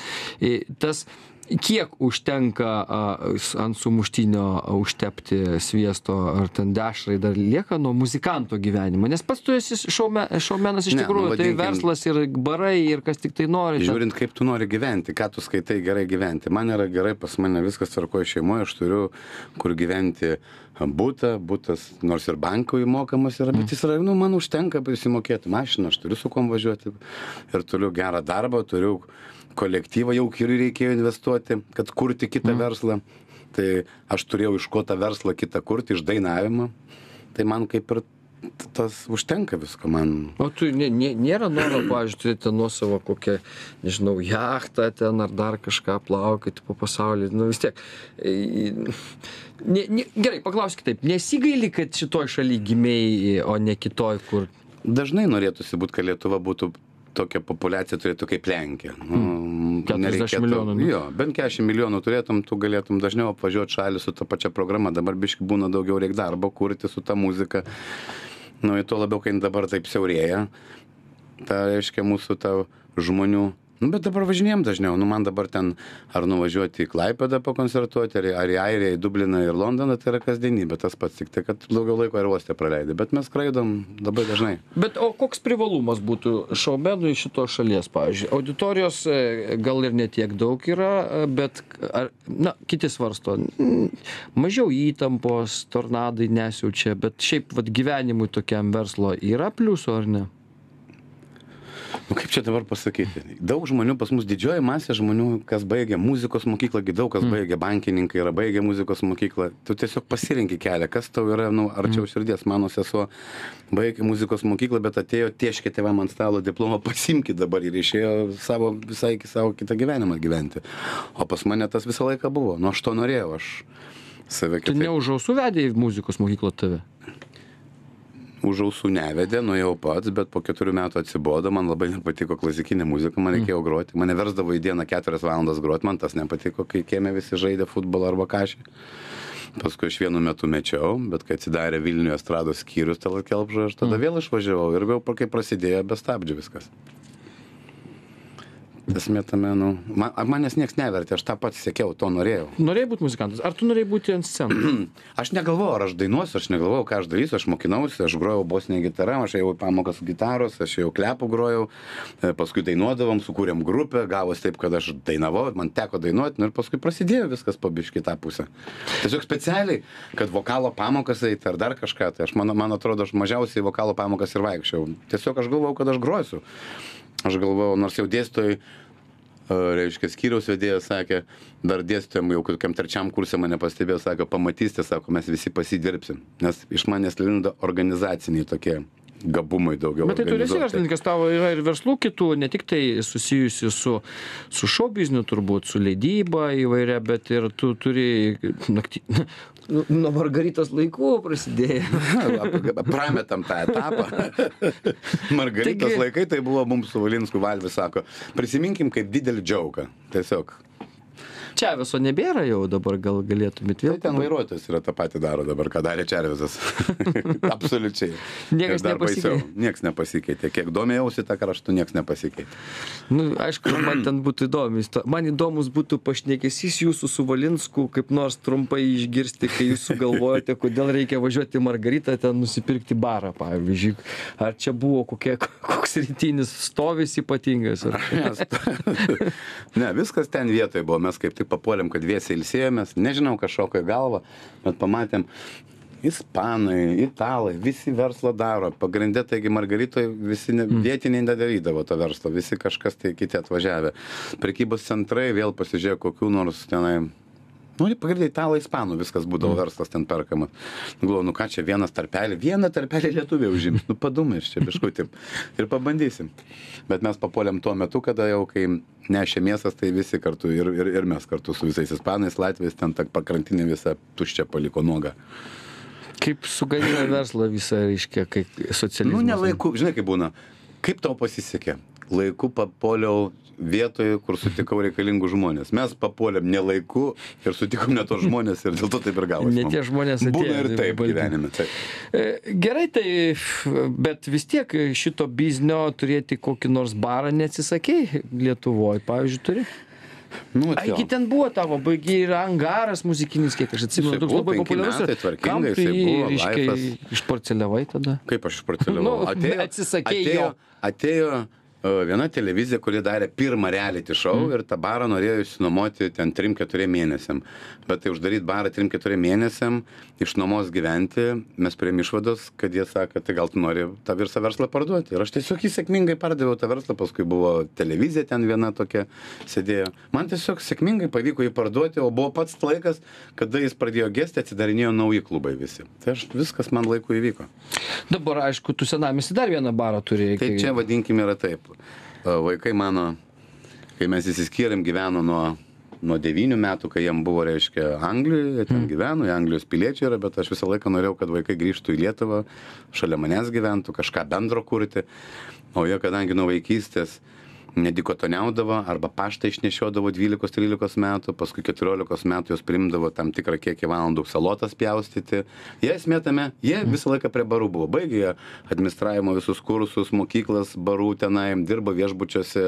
[SPEAKER 3] tas kiek užtenka uh, ant sumuštinio užtepti sviesto ar ten dešrai dar lieka nuo muzikanto gyvenimo, nes pats tu esi šaume, šaumenas iš ne, tikrųjų, nu, vadinkim, tai verslas ir barai ir kas tik tai nori.
[SPEAKER 4] Žiūrint, kaip tu nori gyventi, ką tu skaitai gerai gyventi. Man yra gerai, pas mane viskas tvarkoja šeimoje, aš turiu kur gyventi būtą, būtas nors ir bankui mokamas yra, bet jis yra, nu, man užtenka prisimokėti mašiną, aš turiu su kom važiuoti ir turiu gerą darbą, turiu kolektyvą, jau ir reikėjo investuoti, kad kurti kitą mm. verslą. Tai aš turėjau iš ko tą verslą kitą kurti, iš dainavimo. Tai man kaip ir tas užtenka visko man.
[SPEAKER 3] O tu nė, nė, nėra noro, pavyzdžiui, turėti nuosavą kokią, nežinau, jachtą ten ar dar kažką plaukioti po pasaulį. Nu vis tiek. Ne, ne, gerai, paklausk kitaip. Nesigaili, kad šitoj šaly gimėjai, o ne kitoj, kur?
[SPEAKER 4] Dažnai norėtųsi būt, kad Lietuva būtų tokia populiacija turėtų kaip Lenkija. Nu,
[SPEAKER 3] keturiasdešimt milijonų. Ne?
[SPEAKER 4] Jo, bent keturiasdešimt milijonų turėtum, tu galėtum dažniau apvažiuoti šalį su ta pačia programa. Dabar biški būna daugiau reik darbo kurti su ta muzika. Nu, ir tuo labiau, kai dabar taip siaurėja, ta reiškia mūsų ta žmonių. Nu, bet dabar važinėjom dažniau. Nu, man dabar ten ar nuvažiuoti į Klaipėdą pakoncertuoti, ar, ar į Airiją, į Dubliną ir Londoną, tai yra kasdienybė, tas pats, tik tai, kad daugiau laiko aerouoste praleidai. Bet mes skraidom labai dažnai.
[SPEAKER 3] Bet o koks privalumas būtų šoumenui šitos šalies, pavyzdžiui? Auditorijos gal ir netiek daug yra, bet, ar, na, kiti svarsto, mažiau įtampos, tornadai nesiaučia, bet šiaip vat, gyvenimui tokiam verslo yra pliusų ar ne?
[SPEAKER 4] Nu, kaip čia dabar pasakyti? Daug žmonių, pas mus didžioji masė žmonių, kas baigia muzikos mokyklą, daug kas baigia, bankininkai yra baigę muzikos mokyklą. Tu tiesiog pasirinki kelią, kas tau yra, nu, arčiau širdies. Mano sesuo baigė muzikos mokyklą, bet atėjo, tieškė tėvam ant stalo diplomą, pasimkit dabar ir išėjo savo, visai savo kitą gyvenimą gyventi. O pas mane tas visą laiką buvo. Nu, aš to norėjau, aš save kitaip.
[SPEAKER 3] Tu ne už ausų vedė į muzikos mokyklą tave?
[SPEAKER 4] Už ausų nevedė, nuėjau pats, bet po keturių metų atsibodo, man labai nepatiko klasikinė muzika, man reikėjo groti, mane versdavo į dieną keturias valandas groti, man tas nepatiko, kai kieme visi žaidė futbolą arba kažį. Paskui aš vienu metu mečiau, bet kai atsidarė Vilniuje estrados skyrius Tallat Kelpšoje, aš tada vėl išvažiavau ir vėl, kai prasidėjo, be stabdžių viskas. Esmė tame, nu, man, manęs nieks nevertė, aš tą pats siekiau, to norėjau.
[SPEAKER 3] Norėjai būti muzikantas? Ar tu norėjai būti ant scenos?
[SPEAKER 4] Aš negalvojau, ar aš dainuosiu, aš negalvojau, ką aš darysiu, aš mokinausi, aš grojau bosinę gitarą, aš ėjau į pamokas gitaros, aš jau klepų grojau, paskui dainuodavom, sukūrėm grupę, gavos taip, kad aš dainavau, man teko dainuoti, nu, ir paskui prasidėjo viskas po biškį tą pusę. Tiesiog specialiai, kad vokalo pamokas eiti ar dar kažką, tai aš, man, man atrodo, aš mažiausiai vokalo pamokas ir vaikščiau. Tiesiog aš galvojau, kad aš grosiu. Aš galvojau, nors jau dėstytojai, reiškia, skyriaus vedėjas sakė, dar dėstytojam jau kokiam trečiam kursė mane pastebėjo, sako, pamatysite, sako, mes visi pasidirbsim, nes iš manęs lindo organizaciniai tokie gabumai daugiau.
[SPEAKER 3] Bet tai tu esi verslininkas, tavo yra ir verslų kitų, ne tik tai susijusi su, su show bizniu turbūt, su leidyba įvairia, bet ir tu turi naktį... Nuo Margaritos laikų prasidėjo.
[SPEAKER 4] Prametam tą etapą. Margaritos Taigi... laikai tai buvo mums su Valinsku Valvis, sako, prisiminkim kaip didelį džiauką. Tiesiog.
[SPEAKER 3] Čeveso nebėra jau dabar, gal galėtumėt vėl.
[SPEAKER 4] Tai ten vairuotojas yra tą patį daro dabar, ką darė Červizas. Absoliučiai.
[SPEAKER 3] Niekas nepasikeitė.
[SPEAKER 4] Niekas nepasikeitė. Kiek domėjausi tą kraštų, niekas nepasikeitė.
[SPEAKER 3] Nu, aišku, man ten būtų įdomus. Man įdomus būtų pašnekesys jūsų su Valinsku, kaip nors trumpai išgirsti, kai jūs sugalvojate, kodėl reikia važiuoti į Margaritą, ten nusipirkti barą, pavyzdžiui. Ar čia buvo kokie, koks rytinis stovis ypatingas?
[SPEAKER 4] Ne, viskas ten vietoje buvo. Mes kaip tik papuolėm, kad viesiai ilsėjomės, nežinau, kas šoko į galvą, bet pamatėm, ispanai, italai, visi verslą daro, pagrindė, taigi Margaritoje visi ne, vietiniai nedarydavo to verslo, visi kažkas tai kiti atvažiavę. Prekybos centrai vėl pasižiūrėjo kokių nors tenai, nu, pagrindė italai, ispanų, viskas būdavo verslas ten perkamas. Galvoju, nu ką čia vienas tarpelį, vieną tarpelį lietuviai užims, nu padumai iš čia biškutį ir pabandysim. Bet mes papuolėm tuo metu, kada jau, kai nešė mėsas, tai visi kartu ir, ir, ir mes kartu su visais ispanais, latviais, ten ta pakrantinė visą tuščią paliko nuogą.
[SPEAKER 3] Kaip sugadina verslą visą, reiškia, kai socializmas?
[SPEAKER 4] Nu, ne laiku, žinai, kaip būna, kaip tau pasisekė? Laiku papuoliau vietoje, kur sutikau reikalingų žmonės. Mes papuolėm ne laiku ir sutikom ne tos žmonės ir dėl to taip ir gavosi.
[SPEAKER 3] Ne tie žmonės atėjo.
[SPEAKER 4] Būna ir taip gyvenime. Taip.
[SPEAKER 3] Gerai, tai, bet vis tiek šito biznio turėti kokį nors barą neatsisakei Lietuvoje, pavyzdžiui, turi?
[SPEAKER 4] Nu,
[SPEAKER 3] Aigi ten buvo tavo, baigiai yra angaras muzikinis, kiek aš atsimenu, toks labai populiarus. Kam tu jį, reiškia, išparceliavai tada?
[SPEAKER 4] Kaip aš išparceliavau?
[SPEAKER 3] Nu,
[SPEAKER 4] atėjo,
[SPEAKER 3] atsisakei
[SPEAKER 4] atėjo,
[SPEAKER 3] jo.
[SPEAKER 4] Atėjo viena televizija, kuri darė pirmą reality show mm. ir tą barą norėjo išsinuomoti ten trim keturiem mėnesiam. Bet tai uždaryti barą trim keturiem mėnesiam, išnuomos gyventi, mes priėmėm išvados, kad jie sako, tai gal tu nori tą visą verslą parduoti. Ir aš tiesiog jį sėkmingai pardaviau tą verslą, paskui buvo televizija ten viena tokia sėdėjo. Man tiesiog sėkmingai pavyko jį parduoti, o buvo pats laikas, kada jis pradėjo gesti, atsidarinėjo nauji klubai visi. Tai aš, viskas man laiku įvyko.
[SPEAKER 3] Dabar, aišku, tu senamiesty dar vieną barą turi.
[SPEAKER 4] Tai čia vadinkim yra taip. Vaikai mano, kai mes įsiskyrėm, gyveno nuo nuo devynių metų, kai jiem buvo, reiškia, Anglijoje, jie ten gyveno, jie Anglijos piliečiai yra, bet aš visą laiką norėjau, kad vaikai grįžtų į Lietuvą, šalia manęs gyventų, kažką bendro kurti, o jie, kadangi nuo vaikystės nedikotoniaudavo arba paštą išnešiodavo dvylikos trylikos metų, paskui keturiolikos metų jos priimdavo tam tikrą kiekį valandų salotas pjaustyti. Jie esmė tame, jie visą laiką prie barų buvo. Baigė jie administravimo visus kursus, mokyklas, barų tenai, dirbo viešbučiuose.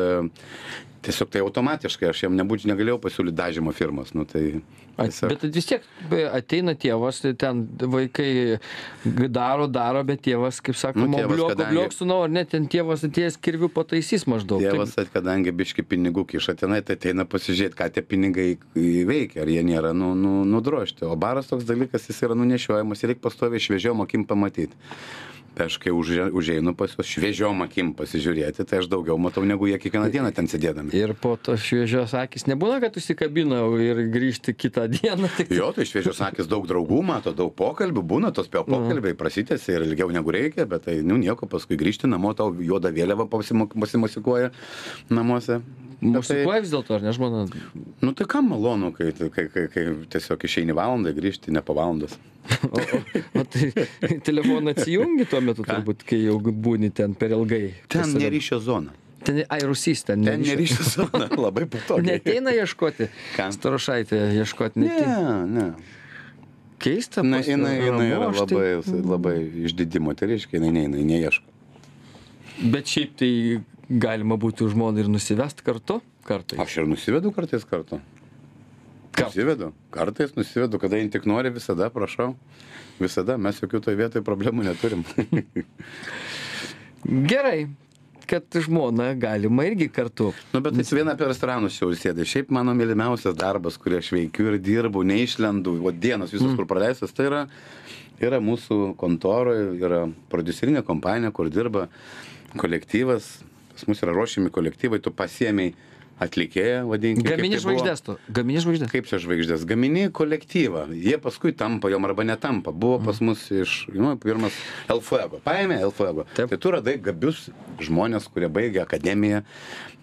[SPEAKER 4] Tiesiog tai automatiškai, aš jam nebūčiau negalėjau pasiūlyti dažymo firmos. Nu, tai, tiesiog...
[SPEAKER 3] Bet vis tiek ateina tėvas, tai ten vaikai daro, daro, bet tėvas, kaip sakoma, nu, obliok, kadangi... obliok su nau, ar ne, ten tėvas atėjęs kirvių pataisys maždaug.
[SPEAKER 4] Tėvas, taip... kadangi biški pinigų kiša tenai, tai ateina pasižiūrėti, ką tie pinigai veikia, ar jie nėra nu, nu, nudrožti. O baras toks dalykas, jis yra nunešiojamas ir reikia pastoviai šviežiom akim pamatyti. Tai aš kai už, užeinu pas juos šviežiom akim pasižiūrėti, tai aš daugiau matau, negu jie kiekvieną dieną ten sėdėdami.
[SPEAKER 3] Ir po to šviežios akis nebūna, kad užsikabina ir grįžti kitą dieną. Tik...
[SPEAKER 4] Jo, tai šviežios akis daug draugų mato, daug pokalbių, būna tos pokalbiai, prasitėsi ir ilgiau negu reikia, bet tai, nu, nieko, paskui grįžti namo, tau juoda vėliava pasimusikuoja namuose.
[SPEAKER 3] Musikuoja vis dėlto, ar ne, žmona?
[SPEAKER 4] Nu tai kam malonu, kai, kai, kai, kai tiesiog išeini valandą, grįžti ne po valandos.
[SPEAKER 3] O, o, o tai telefoną atsijungi tuo metu, Ką? Turbūt, kai jau būni ten per ilgai.
[SPEAKER 4] Ten neryšio zona.
[SPEAKER 3] Ten, ai, Rusys ten
[SPEAKER 4] neryšio. Ten neryšio zona, labai patogiai.
[SPEAKER 3] Neteina ieškoti? Starošaitė ieškoti neteina?
[SPEAKER 4] Ne, ne.
[SPEAKER 3] Keista?
[SPEAKER 4] Na, jinai, jinai yra labai, labai išdidimo, tai reiškia, jinai neina, jinai neieško.
[SPEAKER 3] Bet šiaip tai galima būtų žmoną ir nusivest kartu? Kartais.
[SPEAKER 4] Aš ir nusivedu kartais kartu. Nusivedu. Kartais nusivedu, kada jin tik nori, visada, prašau. Visada, mes jokių toj vietoj problemų neturim.
[SPEAKER 3] Gerai, kad žmona galima irgi kartu.
[SPEAKER 4] Nu, bet jis vieną per restoranus jau sėdė. Šiaip mano mylimiausias darbas, kurį aš veikiu ir dirbu, neišlendu, o dienos visus, mm. kur praleistas, tai yra, yra mūsų kontoroje, yra prodiuserinė kompanija, kur dirba kolektyvas. Pas mus yra ruošiami kolektyvai, tu pasiėmei atlikėją, vadinkime.
[SPEAKER 3] Gamini žvaigždės tu. Gamini žvaigždės.
[SPEAKER 4] Kaip čia žvaigždės? Gamini kolektyvą. Jie paskui tampa, jom arba netampa. Buvo pas mus iš, nu, pirmas El Fuego. Paėmė El Fuego. Taip. Tai tu radai gabius žmonės, kurie baigė akademiją.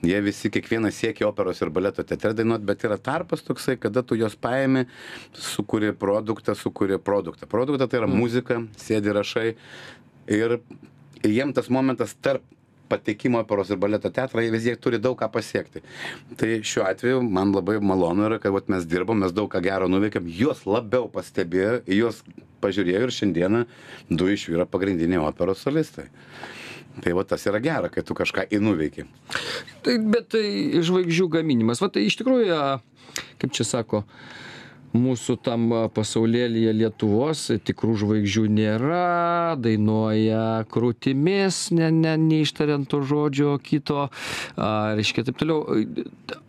[SPEAKER 4] Jie visi kiekvienas siekia operos ir baleto teatre dainuot, bet yra tarpas toksai, kada tu jos paėmė, sukuri produktą, sukuri produktą. Produktą tai yra mm. muzika, sėdi rašai ir jiem tas momentas tarp patekimo operos ir baleto teatrą, jie vis tiek turi daug ką pasiekti. Tai šiuo atveju man labai malonu yra, kad vat, mes dirbom, mes daug ką gero nuveikėm, juos labiau pastebėjo, juos pažiūrėjo ir šiandieną du iš jų yra pagrindiniai operos solistai. Tai va tas yra gera, kai tu kažką įnuveiki.
[SPEAKER 3] Tai, bet tai žvaigždžių gaminimas, va tai iš tikrųjų, kaip čia sako, mūsų tam pasaulėlyje Lietuvos tikrų žvaigždžių nėra, dainuoja krūtimis, ne, ne, neištariant to žodžio kito, a, reiškia taip toliau.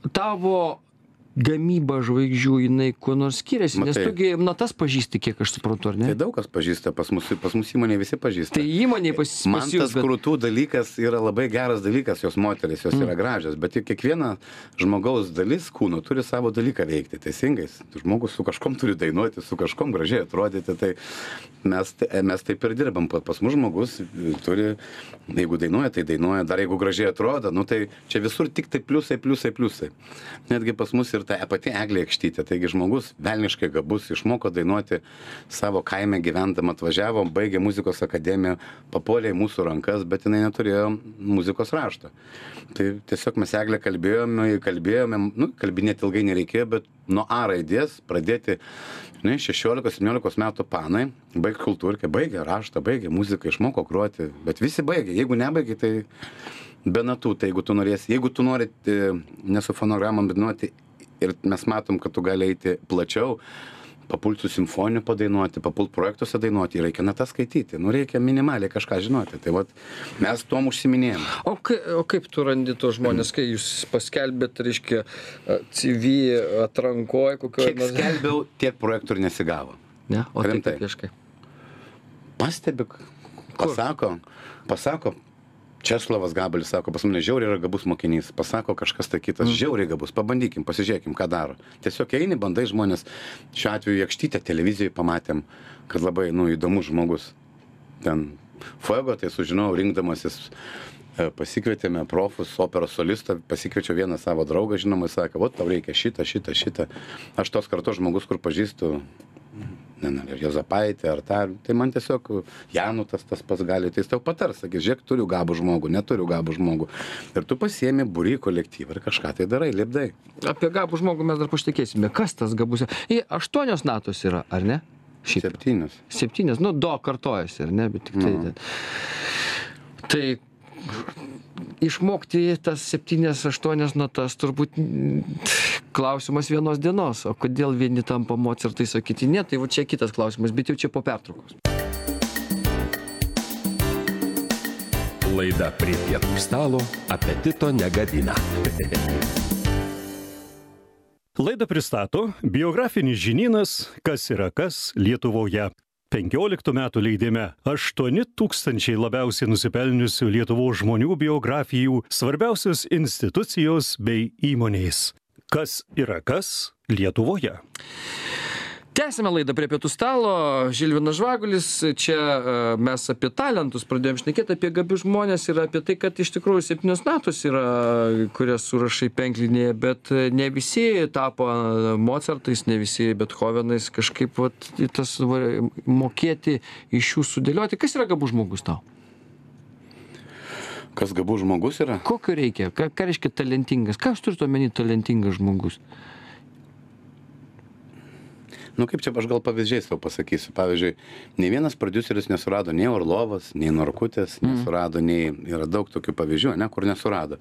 [SPEAKER 3] Tavo gamyba žvaigždžių, jinai kuo nors skiriasi, nes tugi natas pažįsti, kiek aš suprantu, ar ne?
[SPEAKER 4] Tai daug kas pažįsta, pas mus, pas mus įmonėje visi pažįsta.
[SPEAKER 3] Tai įmonėje pas, pas
[SPEAKER 4] Man tas bet... krūtų dalykas yra labai geras dalykas, jos moteris, jos mm. yra gražios, bet kiekviena žmogaus dalis kūno turi savo dalyką veikti, teisingais. Žmogus su kažkom turi dainuoti, su kažkom gražiai atrodyti, tai mes, mes taip ir dirbam. Pas mus žmogus turi, jeigu dainuoja, tai dainuoja, dar jeigu gražiai atrodo, nu tai čia visur tik tai pliusai, pliusai, pliusai. Netgi pas mus ir ta pati Eglė Ekštytė, taigi žmogus velniškai gabus, išmoko dainuoti savo kaime gyvendama, atvažiavo, baigė muzikos akademiją, papuolė į mūsų rankas, bet jinai neturėjo muzikos rašto. Tai tiesiog mes Eglę kalbėjome, kalbėjome, nu, kalbinėti ilgai nereikėjo, bet nuo A raidės pradėti, ne, šešiolikos septyniolikos metų panai, baigė kultūrkę, baigė raštą, baigė muziką, išmoko groti, bet visi baigė, jeigu nebaigė, tai be natų, tai jeigu tu norėsi, jeigu tu nori ne su fonogramom dainuoti, ir mes matom, kad tu gali eiti plačiau, papult su simfoniniu padainuoti, papult projektuose dainuoti, reikia natas skaityti, nu reikia minimaliai kažką žinoti, tai vat mes tuom užsiminėjom.
[SPEAKER 3] O, kai, o kaip tu randi tos žmonės, kai jūs paskelbėt, reiškia, C V atrankoje, kokio...
[SPEAKER 4] Kiek nors... skelbiau, tiek projektų ir nesigavo.
[SPEAKER 3] Ne? O
[SPEAKER 4] rimtai.
[SPEAKER 3] Tai kaip
[SPEAKER 4] Pastebi, pasako, pasako, Česlovas Gabalis sako, pas mane žiauriai yra gabus mokinys, pasako kažkas tai kitas, mm. žiauriai gabus, pabandykim, pasižiūrėkim, ką daro. Tiesiog eini, bandai žmonės, šiuo atveju Ekštytę televizijoje pamatėm, kad labai, nu, įdomus žmogus. Ten Fuego, tai sužinojau, rinkdamasis pasikvietėme profus, operos solistą, pasikviečiau vieną savo draugą, žinoma, jis sakė, vat tau reikia šitą, šitą, šitą. Aš tos kartos žmogus, kur pažįstu, ne, ne, Jozapaitį ar tą, tai man tiesiog Janutas tas pats gali, tai jis tau patars, sakys, žiūrėk, turiu gabų žmogų, neturiu gabų žmogų. Ir tu pasiemi būrį kolektyvą ir kažką tai darai, lipdai.
[SPEAKER 3] Apie gabų žmogų mes dar pašnekėsime. Kas tas gabus? Į aštuonios natos yra, ar ne? Šiaip.
[SPEAKER 4] Septynios.
[SPEAKER 3] Septynios, nu, do kartojasi, ar ne, bet tik tai.
[SPEAKER 4] Nu.
[SPEAKER 3] Tai išmokti tas septynias, aštuonias natas turbūt klausimas vienos dienos. O kodėl vieni tampa Mocartais, o kiti ne, tai va čia kitas klausimas, bet jau čia po pertraukos.
[SPEAKER 1] Laida prie pietų stalo apetito negadina.
[SPEAKER 2] Laidą pristato biografinis žinynas Kas yra kas Lietuvoje. penkioliktų metų leidime aštuoni tūkstančiai labiausiai nusipelniusių Lietuvos žmonių biografijų, svarbiausios institucijos bei įmonės. Kas yra kas Lietuvoje?
[SPEAKER 3] Tęsime laidą prie pietų stalo. Žilvinas Žvagulis, čia mes apie talentus pradėjom šnekėti, apie gabius žmonės ir apie tai, kad iš tikrųjų septynios natos yra, kurias surašai penklinėje, bet ne visi tapo Mocartais, ne visi Bethovenais, kažkaip vat, tas va, mokėti iš jų sudėlioti. Kas yra gabus žmogus tau?
[SPEAKER 4] Kas gabus žmogus yra?
[SPEAKER 3] Kokio reikia? Ką, ką reiškia talentingas? Ką aš turiu omeny talentingas žmogus?
[SPEAKER 4] Nu kaip čia aš gal pavyzdžiais tau pasakysiu. Pavyzdžiui, nei vienas prodiuseris nesurado nei Orlovas, nei Norkutės, mm. nesurado, nei yra daug tokių pavyzdžių, ne, kur nesurado.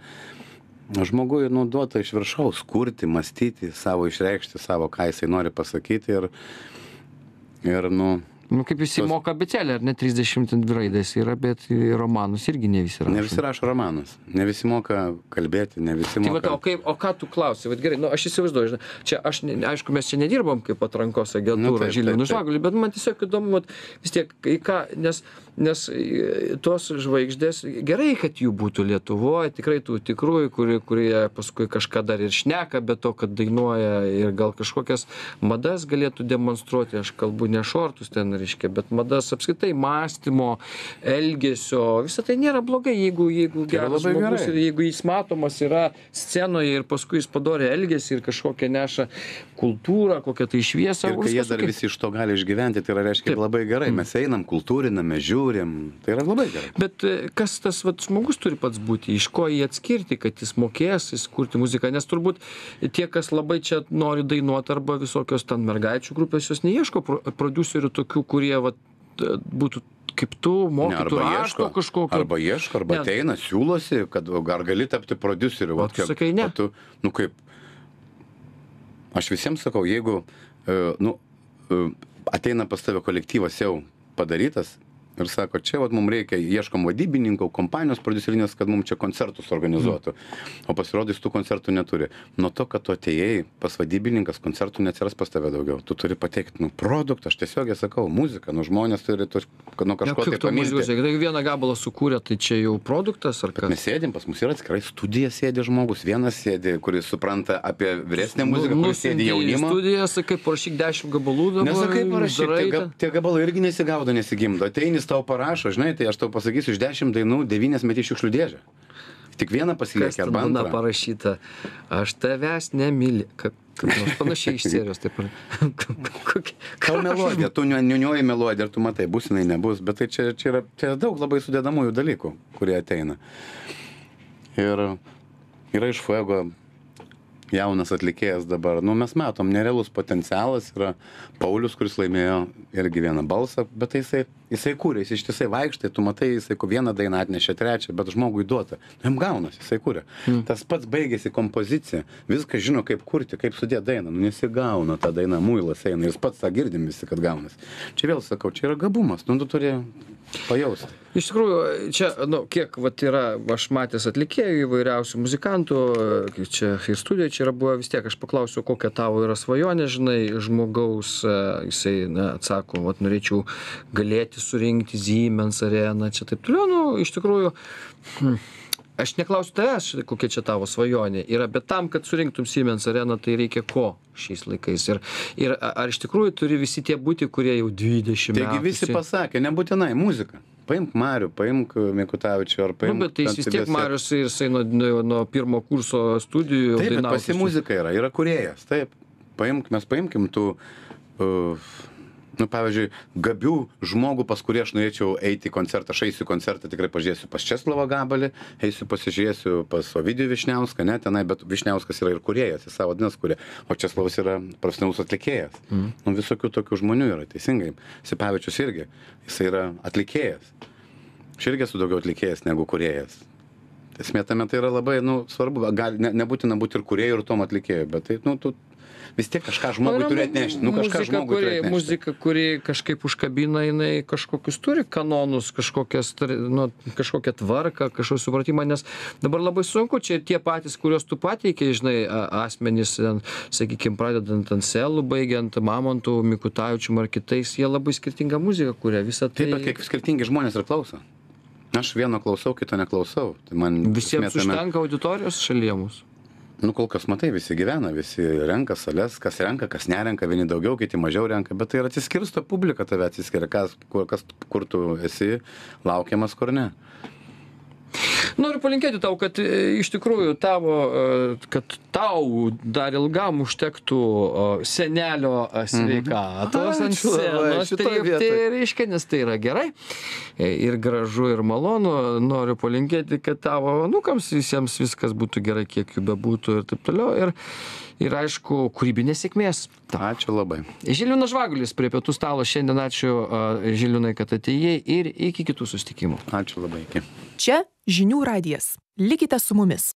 [SPEAKER 4] Žmogui naudota iš viršaus kurti, mąstyti, savo išreikšti, savo ką jisai nori pasakyti ir, ir nu...
[SPEAKER 3] Nu, kaip visi tos... moka abėcėlę, ar ne, trisdešimt dvi raidės yra, bet romanus irgi ne visi rašo.
[SPEAKER 4] Ne visi rašo romanus, ne visi moka kalbėti, ne visi
[SPEAKER 3] tai
[SPEAKER 4] moka...
[SPEAKER 3] Tai va, o, kaip, o ką tu klausi? Vat gerai, nu, aš įsivaizduoju, žinai, čia aš, ne, aišku, mes čia nedirbam kaip atrankos agentūra, nu, Žilvinui Žvaguliui, bet man tiesiog įdomu, vat, vis tiek, į ką, nes, nes tos žvaigždės, gerai, kad jų būtų Lietuvoje, tikrai tų tikrųjų, kurie, kurie paskui kažką dar ir šneka, bet to, kad dainuoja ir gal kažkokias madas galėtų demonstruoti, aš kalbu ne šortus ten, reiškia, bet madas apskritai mąstymo, elgesio, visą tai nėra blogai, jeigu, jeigu geras žmogus ir jeigu jis matomas yra scenoje ir paskui jis padarė elgesį ir kažkokią neša kultūrą, kokią tai šviesą.
[SPEAKER 4] Ir kai jie dar visi iš to gali išgyventi, tai yra reiškia Taip. Labai gerai. Mes einam, kultūriname, žiūrim, tai yra labai gerai.
[SPEAKER 3] Bet kas tas vat, žmogus turi pats būti, iš ko jį atskirti, kad jis mokės, jis kurti muziką, nes turbūt tie, kas labai čia nori dainuoti arba visokios ten mergaičių grupės, jos neieško prodiuserių tokių, kurie vat, būtų kaip tu, mokytų
[SPEAKER 4] ne,
[SPEAKER 3] rašto kažkokio.
[SPEAKER 4] Arba ieško, arba ne. Ateina, siūlosi, kad ar gali tapti prodiuseriu.
[SPEAKER 3] O tu sakai ne.
[SPEAKER 4] Tu, nu kaip, aš visiems sakau, jeigu nu, ateina pas tave kolektyvas jau padarytas ir sako, čia vat, mums reikia, ieškom vadybininkų, kompanijos prodiuserinės, kad mums čia koncertus organizuotų, o pasirodys tų koncertų neturi. Nuo to, kad tu atėjai pas vadybininkas, koncertų neatsiras pas tave daugiau. Tu turi pateikti, nu, produktą, aš tiesiog sakau, muziką, nu, žmonės turi tu, nuo kažko ja, tai pamilti.
[SPEAKER 3] Jeigu vieną gabalą sukūrė, tai čia jau produktas ar kas?
[SPEAKER 4] Mes sėdim, pas mus yra atskirai studija sėdi žmogus, vienas sėdi, kuris supranta apie vyresnę muziką, kuris sėdi jaunimo.
[SPEAKER 3] Studija, sakai, parašyk dešimt gabalų dabar.
[SPEAKER 4] Nesakai, parašyk, tie, ga, tie gabalai irgi nesigaudo, nesigimdo. Ateinis tau parašo, žinai, tai aš tau pasakysiu, iš dešimt dainų devynias meti šiukšlių dėžę. Tik vieną pasilieki arba antrą.
[SPEAKER 3] Kas parašyta, aš tavęs nemyli. Kaip panašiai iš serijos, taip ir.
[SPEAKER 4] Tau melodija, tu niuniuoji melodiją ir tu matai, bus jinai nebus, bet tai čia, čia yra čia daug labai sudėdamųjų dalykų, kurie ateina. Ir yra iš Fuego jaunas atlikėjas dabar, nu mes matom, nerealus potencialas yra Paulius, kuris laimėjo irgi vieną balsą, bet tai jisai, jisai kūrė, jis ištisai vaikštai, tu matai, jisai vieną dainą atnešė trečią, bet žmogui duota, jam gaunas, jisai kūrė. Mm. Tas pats baigėsi kompozicija, viską žino, kaip kurti, kaip sudėti dainą, nu nesigauna ta daina, muilas eina, jis pats tą girdim visi, kad gaunas. Čia vėl sakau, čia yra gabumas, nu tu turi pajausti.
[SPEAKER 3] Iš tikrųjų, čia, nu, kiek vat yra, aš matęs atlikėjų įvairiausių muzikantų, čia ir studijoje čia yra buvę, vis tiek aš paklausiu, kokia tavo yra svajonė, žinai, žmogaus, jisai, na, atsako, vat norėčiau galėti surinkti Siemens areną, čia taip toliau, nu, iš tikrųjų, hm, aš neklausiu tavęs, kokia čia tavo svajonė yra, bet tam, kad surinktum Siemens areną, tai reikia ko šiais laikais? Ir, ir ar iš tikrųjų turi visi tie būti, kurie jau dvidešimt metų?
[SPEAKER 4] Taigi visi pasakė, nebūtinai muzika. paimk Marių, paimk Mikutavičių, ar paimk...
[SPEAKER 3] Nu, bet tai jis vis tiek Marius, jisai nuo, nuo, nuo pirmo kurso studijų
[SPEAKER 4] taip,
[SPEAKER 3] dainavo.
[SPEAKER 4] Bet pas jį muzika yra, yra kūrėjas, taip. Paimk, mes paimkim tų... Uh, nu, pavyzdžiui, gabių žmogų, pas kurį aš norėčiau eiti į koncertą, aš eisiu į koncertą, tikrai pažiūrėsiu pas Česlovą Gabalį, eisiu pasižiūrėsiu pas Ovidijų Višniauską, ne, tenai, bet Višniauskas yra ir kūrėjas, jis savo vadinasi kūrė, o Česlovas yra profesionalus atlikėjas. Mm. Nu, visokių tokių žmonių yra, teisingai. Sipavičius irgi, jis yra atlikėjas. Aš irgi esu daugiau atlikėjas negu kūrėjas. Esmė tame tai yra labai, nu, svarbu, gali, ne, nebūtina būti ir kūrėjų, ir tom atlikėjų, bet tai, nu, tu vis tiek kažką žmogui turi atnešti. Nu, kažką
[SPEAKER 3] muzika,
[SPEAKER 4] žmogui
[SPEAKER 3] kuri,
[SPEAKER 4] turi atnešti.
[SPEAKER 3] Muzika, kuri kažkaip užkabina, jinai kažkokius turi kanonus, kažkokias, nu, kažkokią tvarką, kažkokį supratimą, nes dabar labai sunku, čia tie patys, kuriuos tu pateikė, žinai, asmenys, sakykime, pradedant Anselų, baigiant Mamontų, Mikutavičium ar kitais, jie labai skirtingą muziką kuria. Visą tai...
[SPEAKER 4] Taip, bet kiek skirtingi žmonės ir klauso. Aš vieno klausau, kito neklausau. Tai man
[SPEAKER 3] visiems
[SPEAKER 4] smetame...
[SPEAKER 3] užtenka auditorijos šalyje mūsų.
[SPEAKER 4] Nu, kol kas matai, visi gyvena, visi renka sales, kas renka, kas nerenka, vieni daugiau, kiti mažiau renka, bet tai yra atsiskirsto publika, tave atsiskiria, kas, kur, kas, kur tu esi laukiamas, kur ne.
[SPEAKER 3] Noriu palinkėti tau, kad iš tikrųjų tavo, kad tau dar ilgam užtektų senelio sveikatos ant scenos trypti, reiškia, nes tai yra gerai ir gražu ir malonu. Noriu palinkėti, kad tavo anūkams visiems viskas būtų gerai, kiek jų bebūtų ir taip toliau. Ir, ir aišku, kūrybinės sėkmės.
[SPEAKER 4] Ačiū labai.
[SPEAKER 3] Žilvinas Žvagulis prie pietų stalo. Šiandien ačiū Žilvinai, kad atėjai ir iki kitų susitikimų.
[SPEAKER 4] Ačiū labai. Iki.
[SPEAKER 5] Čia Žinių radijas. Likite su mumis.